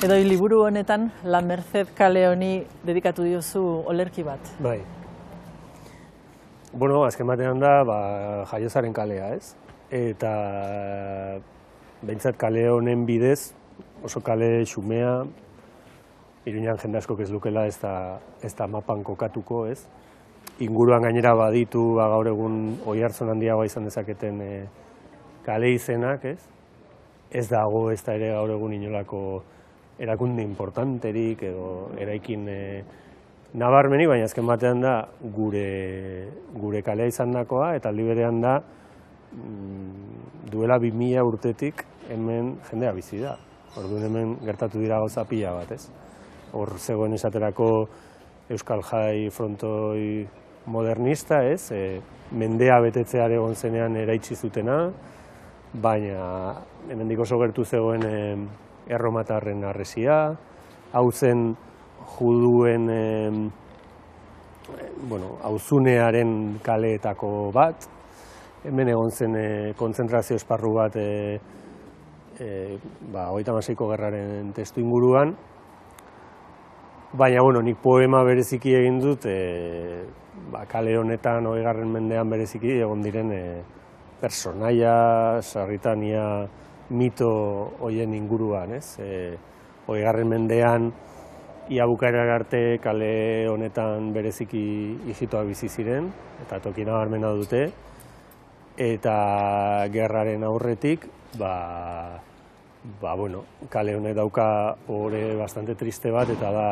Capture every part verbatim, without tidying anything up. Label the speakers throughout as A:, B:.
A: Edo liburu honetan La Merced kale honi dedikatu diozu olerki bat.
B: Bai. Bueno, azken batean da, ba, Jaiozaren kalea, ez? Eta behintzat kale honen bidez, oso kale xumea, Iruñan jende askok ez lukela ez da, ez da mapan kokatuko, ez? Inguruan gainera baditu, ba, gaur egun oihartzun handiagoa izan dezaketen e, kale izenak, ez? Ez dago ez da ere gaur egun inolako erakunde importanterik edo eraikin e, nabarmenik, baina azken batean da gure, gure kalea izan dakoa, eta aldi berean da mm, duela bi mila urtetik hemen jendea bizi da. Orduan hemen gertatu dira gauza pila bat, ez? Hor zegoen esaterako Euskal Jai frontoi modernista, ez? E, mendea betetzear egon zenean eraitsi zutena, baina hemendik oso gertu zegoen e, erromatarren harresia, hau zen juduen e, bueno, auzunearen kaleetako bat, hemen egon zen e, kontzentrazio esparru bat e, e, ba, hogeita hamaseiko gerraren testu inguruan, baina, bueno, nik poema bereziki egin dut, e, ba, kale honetan hogeigarren mendean bereziki egon diren e, personaia, sarritania, mito hoien inguruan, ez? E, hogeigarren mendean, ia bukaera arte kale honetan bereziki ijitoak bizi ziren, eta toki nabarmena dute, eta gerraren aurretik, ba, ba, bueno, kale honek dauka ore bastante triste bat, eta da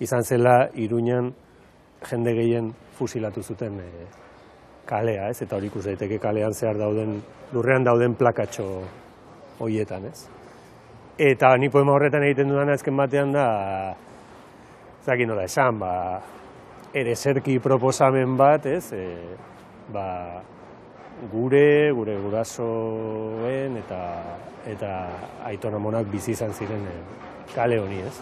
B: izan zela Iruñan jende gehien fusilatu zuten e, kalea, ez? Eta hori ikus daiteke kalean zehar dauden, lurrean dauden plakatxo hoietan, ez? Eta ni poema horretan egiten dudana azken batean da, zakin nola esan, ba, ereserki proposamen bat, ez? E, ba, gure, gure gurasoen eta eta aiton amonak bizi izan ziren e, kale honi, ez?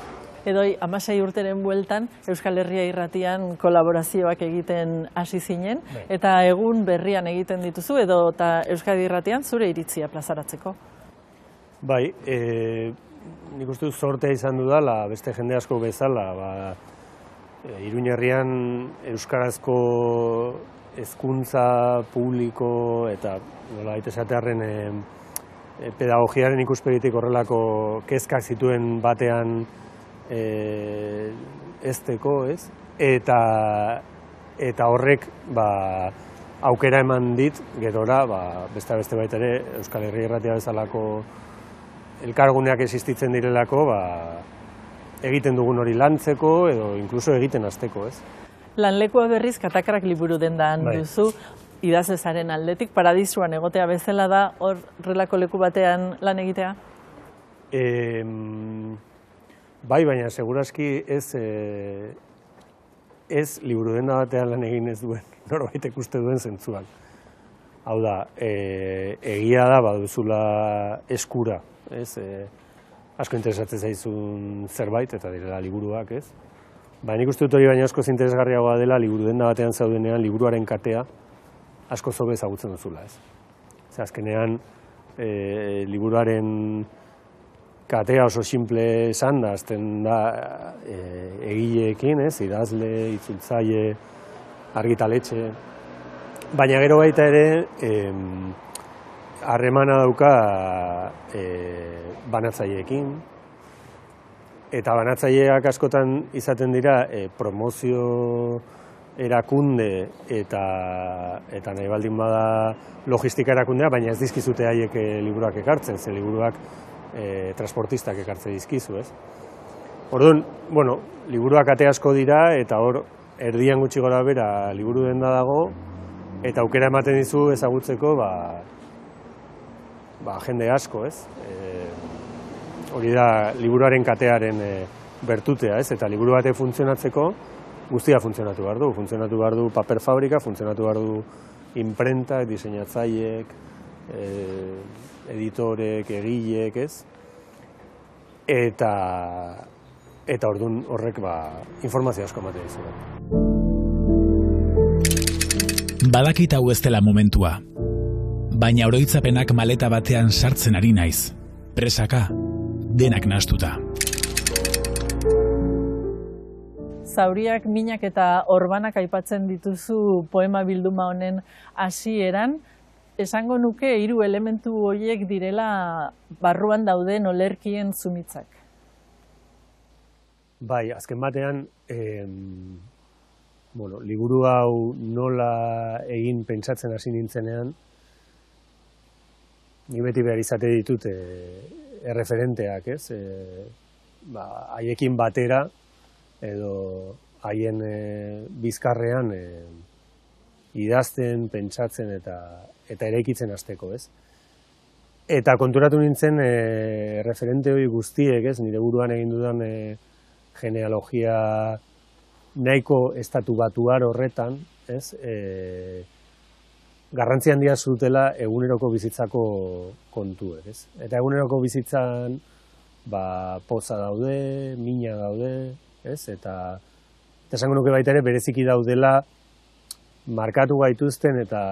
A: Edoi, hamasei urteren bueltan Euskal Herria Irratian kolaborazioak egiten hasi zinen, Bai. Eta egun berrian egiten dituzu, edo eta Euskadi Irratian zure iritzia plazaratzeko?
B: Bai, e, nik uste dut zortea izan dudala, beste jende asko bezala, ba, e, Iruñ herrian euskarazko hezkuntza publiko eta nola baita esatearren e, e, pedagogiaren ikuspegitik horrelako kezkak zituen batean e, ezteko, ez? Eta, eta horrek ba, aukera eman dit, gerora, ba, beste beste baita ere, Euskal Herria Irratia bezalako elkarguneak existitzen direlako, ba, egiten dugun hori lantzeko edo inkluso egiten hasteko, ez?
A: Lanlekua berriz Katakrak liburu dendan
B: Bai.
A: duzu, idazezaren aldetik, paradisuan egotea bezala da hor relako leku batean lan egitea?
B: E, bai, baina segurazki ez, e, ez liburu denda batean lan egin ez duen, norbaitek uste duen zentzuan. Hau da, e, egia da baduzula eskura, ez? E, asko interesatzen zaizun zerbait, eta direla liburuak, ez? Ba, nik uste dut hori baina askoz interesgarriagoa dela liburu denda batean zaudenean liburuaren katea asko zobe ezagutzen duzula, ez? Zer, azkenean, e, liburuaren katea oso simple esan da, azten da e, egileekin, ez? Idazle, itzultzaile, argitaletxe. Baina gero baita ere, harremana dauka e, banatzaileekin, eta banatzaileak askotan izaten dira e, promozio erakunde eta, eta nahi baldin bada logistika erakundea, baina ez dizkizute haiek e, liburuak ekartzen, ze liburuak e, transportistak ekartzen dizkizu, ez? Orduan, bueno, liburuak ate asko dira, eta hor, erdian gutxi gora bera liburu denda dago, eta aukera ematen dizu ezagutzeko, ba, ba, jende asko, ez? E, hori da liburuaren katearen e, bertutea, ez? Eta liburu bate funtzionatzeko guztia funtzionatu behar du. Funtzionatu behar du paper fabrika, funtzionatu behar du imprenta, diseinatzaileek, e, editorek, egilek, ez? Eta, eta ordun horrek ba, informazio asko ematen dizu.
C: Badakit hau ez dela momentua, baina oroitzapenak maleta batean sartzen ari naiz. Presaka, denak nahastuta.
A: zauriak, minak eta orbanak aipatzen dituzu poema bilduma honen hasieran, esango nuke hiru elementu horiek direla barruan dauden olerkien zumitzak.
B: Bai, azken batean, eh, bueno, liburu hau nola egin pentsatzen hasi nintzenean, ni beti behar izate ditut eh, erreferenteak, ez? Eh, ba, haiekin batera, edo haien eh, bizkarrean eh, idazten, pentsatzen eta eta eraikitzen hasteko, ez? Eta konturatu nintzen eh, referente hori guztiek, ez? Nire buruan egin dudan eh, genealogia nahiko estatu batuar horretan, ez? E, garrantzi handia zutela eguneroko bizitzako kontuek, ez? Eta eguneroko bizitzan ba, poza daude, mina daude, ez? Eta eta esango nuke baita ere bereziki daudela markatu gaituzten eta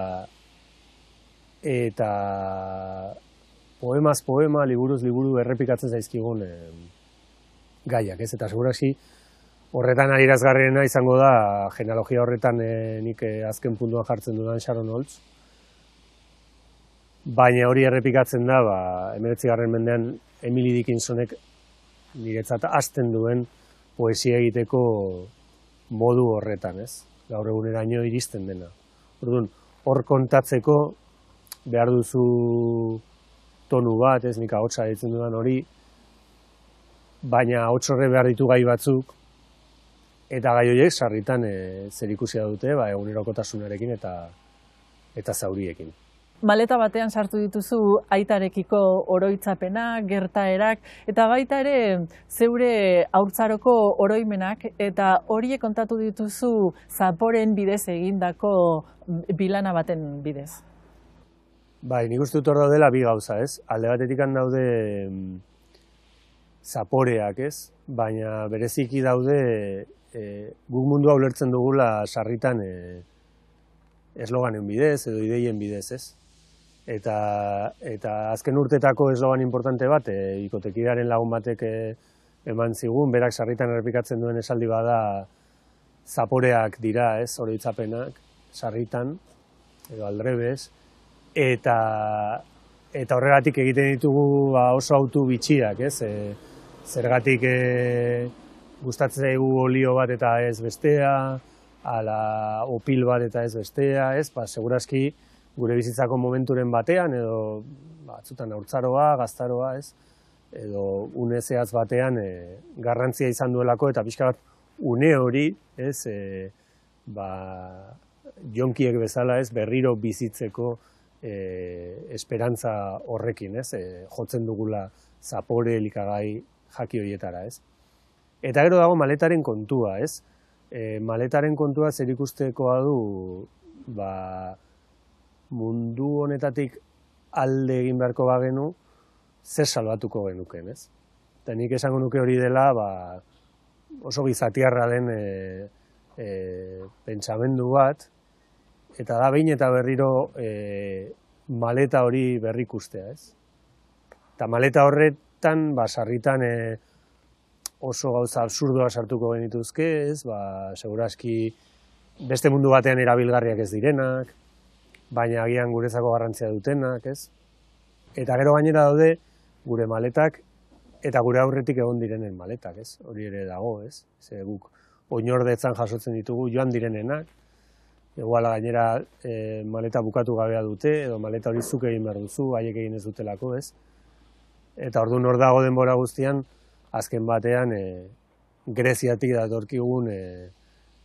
B: eta poemaz poema, liburuz liburu errepikatzen zaizkigun eh, gaiak, ez? Eta segurazki horretan adierazgarriena izango da genealogia horretan e, nik e, azken puntuan jartzen dudan Sharon Olds. Baina hori errepikatzen da, ba, hemeretzigarren mendean Emily Dickinsonek niretzat hasten duen poesia egiteko modu horretan, ez? Gaur eguneraino iristen dena. Orduan, hor kontatzeko behar duzu tonu bat, ez? Nik ahotsa ditzen dudan hori, baina ahots horre behar ditu gai batzuk, eta gai horiek sarritan e, zerikusia dute ba, egunerokotasunarekin eta eta zauriekin.
A: Maleta batean sartu dituzu aitarekiko oroitzapenak, gertaerak, eta baita ere zeure haurtzaroko oroimenak, eta horiek kontatu dituzu zaporen bidez egindako bilana baten bidez.
B: Bai, nik uste dut hor daudela bi gauza, ez? Alde batetik daude zaporeak, ez? Baina bereziki daude E, guk mundua ulertzen dugula sarritan e, esloganen bidez edo ideien bidez, ez? Eta, eta azken urtetako eslogan importante bat, e, ikotekidaren lagun batek e, eman zigun, berak sarritan errepikatzen duen esaldi bada zaporeak dira, ez? Oroitzapenak, sarritan, edo aldrebes, eta, eta horregatik egiten ditugu ba, oso autu bitxiak, ez? E, zergatik e, gustatzen zaigu olio bat eta ez bestea, ala opil bat eta ez bestea, ez? Ba, segurazki gure bizitzako momenturen batean, edo batzutan haurtzaroa, gaztaroa, ez? Edo une zehatz batean e, garrantzia izan duelako eta pixka bat une hori, ez? E, ba, jonkiek bezala, ez? Berriro bizitzeko e, esperantza horrekin, ez? E, jotzen dugula zapore elikagai jaki horietara, ez? Eta gero dago maletaren kontua, ez? E, maletaren kontua zer ikustekoa du ba, mundu honetatik alde egin beharko bagenu, zer salbatuko genuken, ez? Eta nik esango nuke hori dela ba, oso gizatiarra den e, e, pentsamendu bat, eta da behin eta berriro e, maleta hori berrikustea, ez? Eta maleta horretan, ba, sarritan e, oso gauza absurdoa sartuko genituzke, ez? Ba, segurazki beste mundu batean erabilgarriak ez direnak, baina agian guretzako garrantzia dutenak, ez? Eta gero gainera daude gure maletak eta gure aurretik egon direnen maletak, ez? Hori ere dago, ez? Ze guk oinordetzan jasotzen ditugu joan direnenak, iguala gainera e, maleta bukatu gabea dute, edo maleta hori zuk egin behar duzu, haiek egin ez dutelako, ez? Eta orduan hor dago denbora guztian, azken batean e, Greziatik datorkigun, e,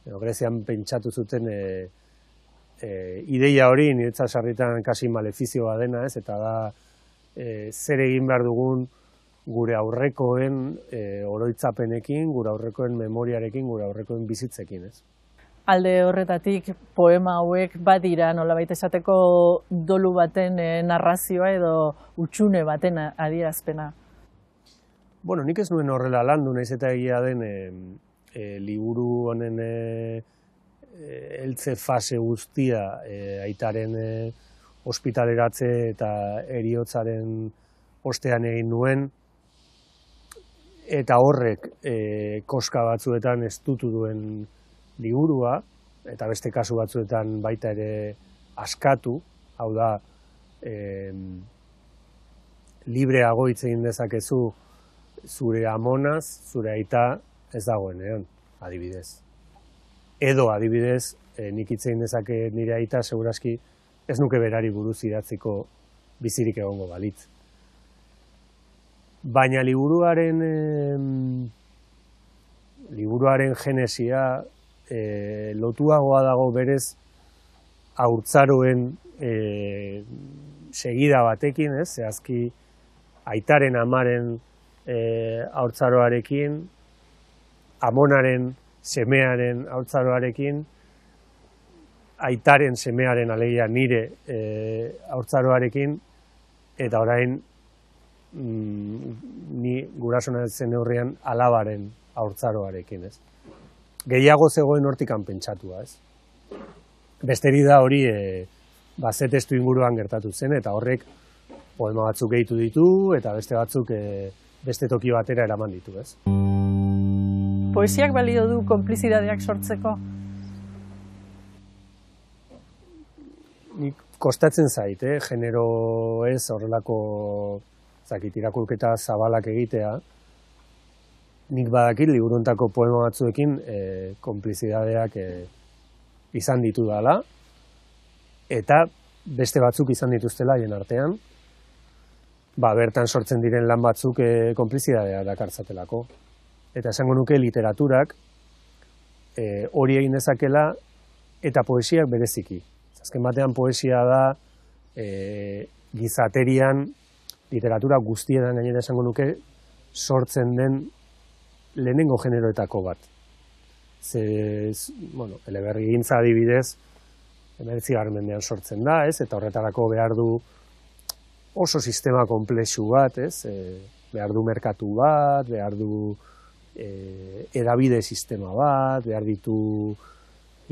B: edo Grezian pentsatu zuten e, e, ideia hori niretzat sarritan kasi malefizioa dena, ez? Eta da e, zer egin behar dugun gure aurrekoen e, oroitzapenekin, gure aurrekoen memoriarekin, gure aurrekoen bizitzekin, ez?
A: Alde horretatik poema hauek badira nolabait esateko dolu baten e, narrazioa edo hutsune baten adierazpena.
B: Bueno, nik ez nuen horrela landu, naiz eta egia den e, e, liburu honen e, e, heltze fase guztia e, aitaren e, ospitaleratze eta heriotzaren ostean egin nuen. eta horrek e, koska batzuetan estutu duen liburua, eta beste kasu batzuetan baita ere askatu, hau da, e, libreago hitz egin dezakezu zure amonaz, zure aita ez dagoenean, adibidez. Edo, adibidez, e, nik hitz egin dezake nire aita, segurazki ez nuke berari buruz idatziko bizirik egongo balitz. Baina liburuaren eh, liburuaren genesia eh, lotuagoa dago berez haurtzaroen eh, segida batekin, ez? Zehazki aitaren amaren eh, haurtzaroarekin, amonaren semearen haurtzaroarekin, aitaren semearen alegia nire eh, haurtzaroarekin, eta orain ni gurasona zen neurrian alabaren haurtzaroarekin, ez. Gehiago zegoen hortikan pentsatua, ez. Besteri da hori e, ba, ze testu inguruan gertatu zen, eta horrek poema batzuk gehitu ditu, eta beste batzuk e, beste toki batera eraman ditu, ez.
A: Poesiak balio du konplizidadeak sortzeko?
B: Nik kostatzen zait, eh? Genero ez horrelako zakit, irakurketa zabalak egitea, nik badakit liburuntako poema batzuekin e, konplizidadeak e, izan ditu dala, eta beste batzuk izan dituztela hien artean, ba, bertan sortzen diren lan batzuk e, konplizidadea dakartzatelako. Eta esango nuke literaturak e, hori egin dezakela eta poesiak bereziki. Azken batean poesia da e, gizaterian, literatura guztietan gainera esango nuke sortzen den lehenengo generoetako bat. Ze, bueno, eleberrigintza adibidez, hemeretzigarren mendean sortzen da, ez? Eta horretarako behar du oso sistema konplexu bat, ez? E, behar du merkatu bat, behar du e, edabide sistema bat, behar ditu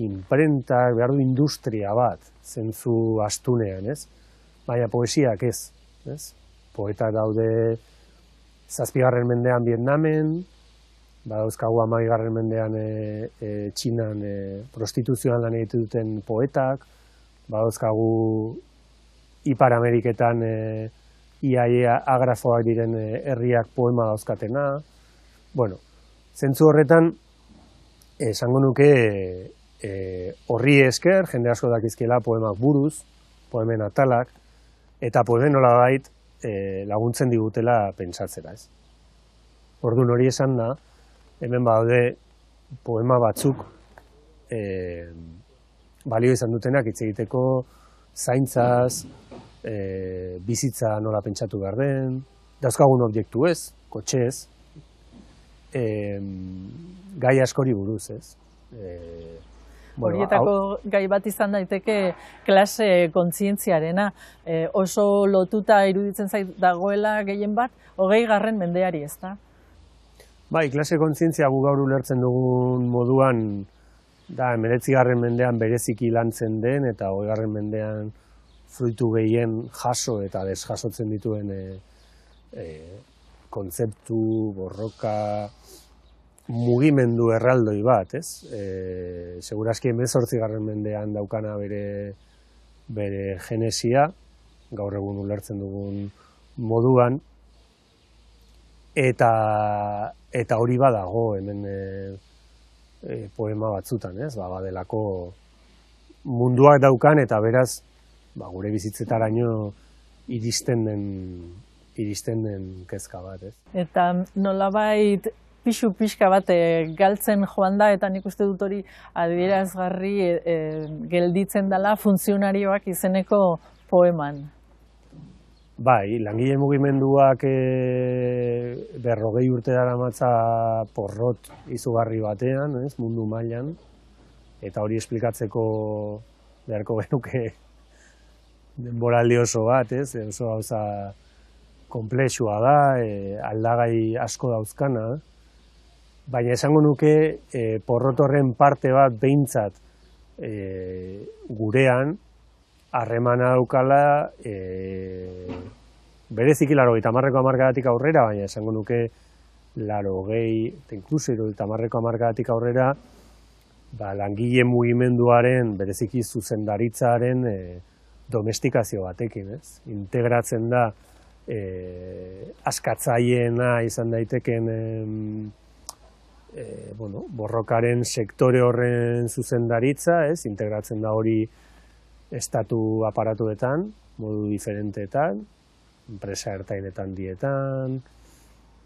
B: imprentak, behar du industria bat, zentzu astunean, ez? Baina poesiak ez, ez? Poeta daude zazpigarren mendean Vietnamen, badauzkagu hamabigarren mendean e, e, Txinan e, prostituzioan lan egiten duten poetak, badauzkagu Ipar Ameriketan e, iaia agrafoak diren e, herriak poema dauzkatena. Bueno, zentzu horretan, esango nuke e, horri esker, jende asko dakizkiela poemak buruz, poemen atalak, eta poemen nolabait E, laguntzen digutela pentsatzera, ez. Orduan hori esan da, hemen badaude poema batzuk e, balio izan dutenak hitz egiteko zaintzaz, e, bizitza nola pentsatu behar den, dauzkagun objektu ez, kotxez, e, gai askori buruz, ez. E, Bueno,
A: horietako hau... gai bat izan daiteke klase kontzientziarena. E, oso lotuta iruditzen zait dagoela gehien bat, hogei garren mendeari, ez da?
B: Bai, klase kontzientzia gu gaur ulertzen dugun moduan, da, hemeretzigarren mendean bereziki lantzen den, eta hogei garren mendean fruitu gehien jaso eta desjasotzen dituen e, e, kontzeptu, borroka, mugimendu erraldoi bat, ez? E, segurazki hemezortzigarren mendean daukana bere, bere genesia, gaur egun ulertzen dugun moduan, eta, eta hori badago hemen e, e, poema batzutan, ez? Ba, badelako munduak daukan, eta beraz, ba, gure bizitzetaraino iristen den, iristen den kezka bat, ez?
A: Eta nolabait pixu pixka bat e, galtzen joan da, eta nik uste dut hori adierazgarri e, e, gelditzen dela funtzionarioak izeneko poeman.
B: Bai, langile mugimenduak e, berrogei urte daramatza porrot izugarri batean, ez, mundu mailan, eta hori esplikatzeko beharko genuke denboraldi oso bat, ez, oso gauza konplexua da, e, aldagai asko dauzkana, baina esango nuke e, porrotorren parte bat behintzat e, gurean harremana daukala e, bereziki laurogeita hamarreko hamarkadatik aurrera, baina esango nuke laro gehi, eta inkluso hirurogeita hamarreko hamarkadatik aurrera, ba, langile mugimenduaren, bereziki zuzendaritzaren e, domestikazio batekin, ez? Integratzen da e, askatzaileena izan daiteken e, e, bueno, borrokaren sektore horren zuzendaritza, ez? Integratzen da hori estatu aparatuetan, modu diferenteetan, enpresa ertainetan dietan,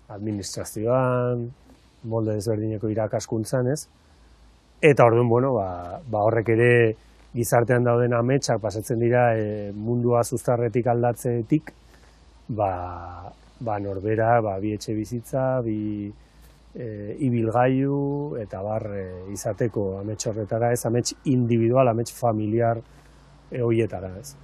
B: administrazioan, molde desberdineko irakaskuntzan, ez? Eta orduan, bueno, ba, ba horrek ere gizartean dauden ametsak pasatzen dira e, mundua zuztarretik aldatzetik, ba, ba norbera, ba, bi etxe bizitza, bi e, ibilgailu, eta bar e, izateko amets horretara, ez amets individual, amets familiar e, horietara, ez?